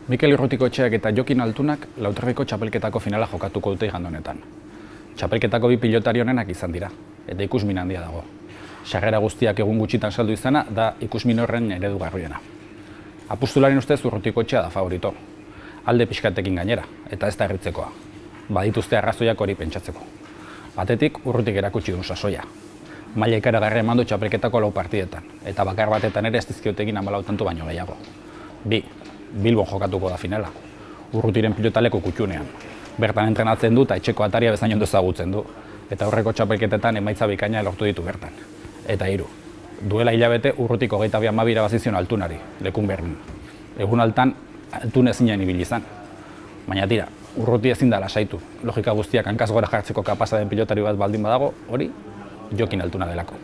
Mikel Urrutikoetxeak eta Jokin Altunak Lauterriko txapelketako finala jokatuko dute igande honetan. Txapelketako bi pilotari onenak izan dira, eta ikusmin handia dago. Sarrera guztiak egun gutxitan saldu izana da ikusmin horren eredugarriena. Apustularen ustez Urrutikoetxea da favorito. Alde pixkatekin gainera, eta ez da erritzekoa. Badituzte arrazoiak hori pentsatzeko. Batetik Urrutik erakutsi duen sasoia. Maila ikaragarria eman du txapelketako 4 partidetan, eta bakar batetan ere ez dizkiotekin 14 tanto baino gehiago. 2. Bilbon jokatuko da finala. Urrutiren pilotaleko kutxunean. Bertan entrenatzen du eta etxeko ataria bezain ondo ezagutzen du. Eta aurreko txapelketetan emaitza bikaina lortu ditu bertan. Eta 3. Duela hilabete Urrutik 22 irabazi zion Altunari, lekun Berlin. Egun altan Altun ezinen ibili izan. Baina tira, Urruti ezin da lasaitu. Logika guztiak hankaz gora jartzeko kapasa den pilotari bat baldin badago, hori Jokin Altuna delako.